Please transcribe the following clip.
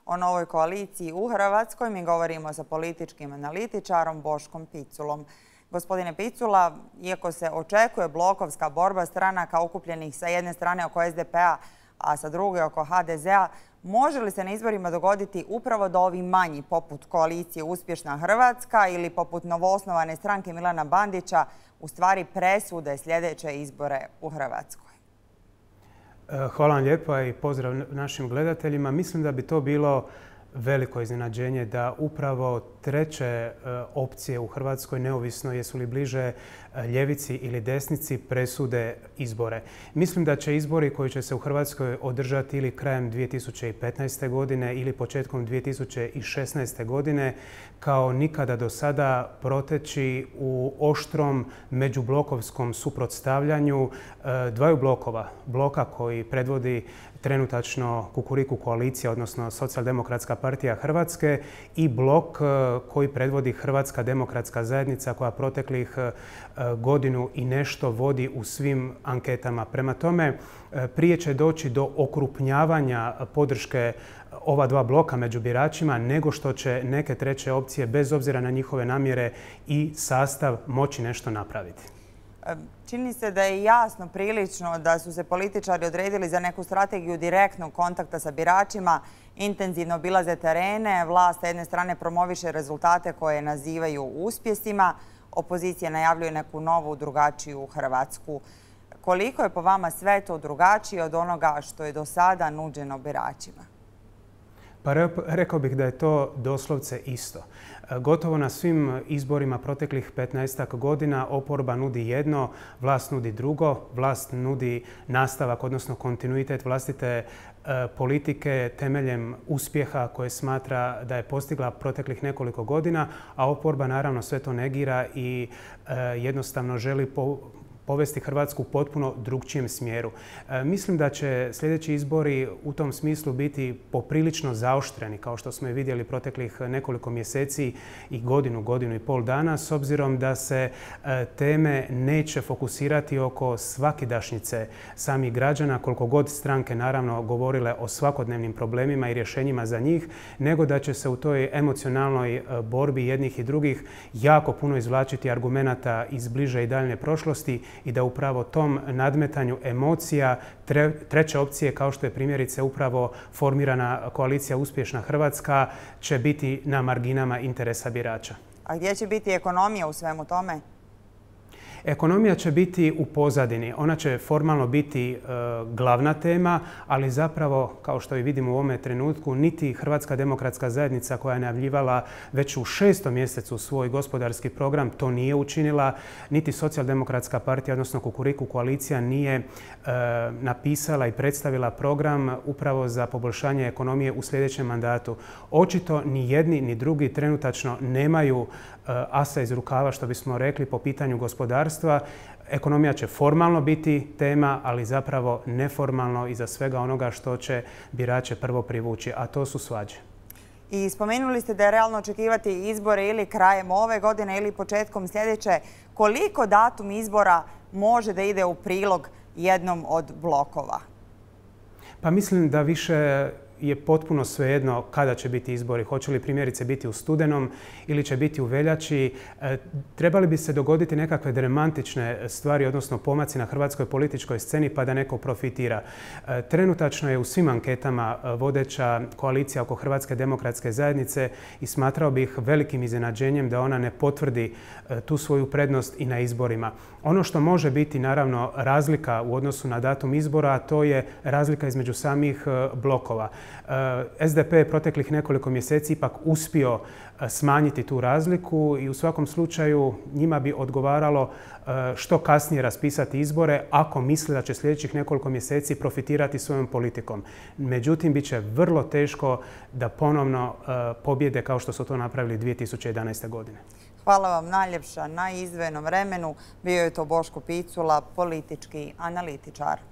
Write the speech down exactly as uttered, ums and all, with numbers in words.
o novoj koaliciji u Hrvatskoj. Mi govorimo sa političkim analitičarom Boškom Piculom. Gospodine Picula, iako se očekuje blokovska borba stranaka okupljenih sa jedne strane oko S D P-a, a sa druge oko H D Z-a, može li se na izborima dogoditi upravo da ovi manji, poput koalicije Uspješna Hrvatska ili poput novoosnovane stranke Milana Bandića, u stvari presude sljedeće izbore u Hrvatskoj? Hvala vam lijepa i pozdrav našim gledateljima. Mislim da bi to bilo veliko iznenađenje da upravo treće opcije u Hrvatskoj, neovisno jesu li bliže ljevici ili desnici, presude izbore. Mislim da će izbori koji će se u Hrvatskoj održati ili krajem dvije tisuće petnaeste. godine ili početkom dvije tisuće šesnaeste. godine kao nikada do sada proteći u oštrom međublokovskom suprotstavljanju dvaju blokova. Bloka koji predvodi trenutačno Kukuriku koalicija, odnosno Socijaldemokratska partija Hrvatske, i blok koji predvodi Hrvatska demokratska zajednica koja proteklih godinu i nešto vodi u svim anketama. Prema tome, prije će doći do okrupnjavanja podrške ova dva bloka među biračima nego što će neke treće opcije, bez obzira na njihove namjere i sastav, moći nešto napraviti. Čini se da je jasno prilično da su se političari odredili za neku strategiju direktnog kontakta sa biračima, intenzivno obilaze terene, vlast sa jedne strane promoviše rezultate koje nazivaju uspjesima, opozicija najavljuje neku novu, drugačiju Hrvatsku. Koliko je po vama sve to drugačije od onoga što je do sada nuđeno biračima? Pa rekao bih da je to doslovce isto. Gotovo na svim izborima proteklih petnaestak godina oporba nudi jedno, vlast nudi drugo, vlast nudi nastavak, odnosno kontinuitet vlastite politike temeljem uspjeha koje smatra da je postigla proteklih nekoliko godina, a oporba naravno sve to negira i jednostavno želi po povesti Hrvatsku u potpuno drugčijem smjeru. E, mislim da će sljedeći izbori u tom smislu biti poprilično zaoštreni, kao što smo i vidjeli proteklih nekoliko mjeseci i godinu, godinu i pol dana, s obzirom da se e, teme neće fokusirati oko svakidašnjice samih građana, koliko god stranke naravno govorile o svakodnevnim problemima i rješenjima za njih, nego da će se u toj emocionalnoj borbi jednih i drugih jako puno izvlačiti argumenata iz bliže i daljne prošlosti i da upravo tom nadmetanju emocija treće opcije, kao što je primjerice upravo formirana koalicija Uspješna Hrvatska, će biti na marginama interesa birača. A gdje će biti ekonomija u svemu tome? Ekonomija će biti u pozadini. Ona će formalno biti e, glavna tema, ali zapravo, kao što i vidimo u ovome trenutku, niti Hrvatska demokratska zajednica koja je najavljivala već u šestom mjesecu svoj gospodarski program to nije učinila, niti Socijaldemokratska partija, odnosno Kukuriku koalicija, nije e, napisala i predstavila program upravo za poboljšanje ekonomije u sljedećem mandatu. Očito ni jedni ni drugi trenutačno nemaju asa iz rukava, što bismo rekli, po pitanju gospodarstva. Ekonomija će formalno biti tema, ali zapravo neformalno iza svega onoga što će birače prvo privući, a to su svađe. I spomenuli ste da je realno očekivati izbore ili krajem ove godine ili početkom sljedeće. Koliko datum izbora može da ide u prilog jednom od blokova? Pa mislim da više je potpuno svejedno kada će biti izbori. Hoće li primjerice biti u studenom ili će biti u veljači. E, trebali bi se dogoditi nekakve dramatične stvari, odnosno pomaci na hrvatskoj političkoj sceni pa da neko profitira. E, trenutačno je u svim anketama vodeća koalicija oko Hrvatske demokratske zajednice i smatrao bih velikim iznenađenjem da ona ne potvrdi e, tu svoju prednost i na izborima. Ono što može biti naravno razlika u odnosu na datum izbora, to je razlika između samih e, blokova. S D P je proteklih nekoliko mjeseci ipak uspio smanjiti tu razliku i u svakom slučaju njima bi odgovaralo što kasnije raspisati izbore ako misle da će sljedećih nekoliko mjeseci profitirati svojom politikom. Međutim, bit će vrlo teško da ponovno pobjede kao što su to napravili dvije tisuće jedanaeste. godine. Hvala vam najljepša na izdvojenom vremenu. Bio je to Boško Picula, politički analitičar.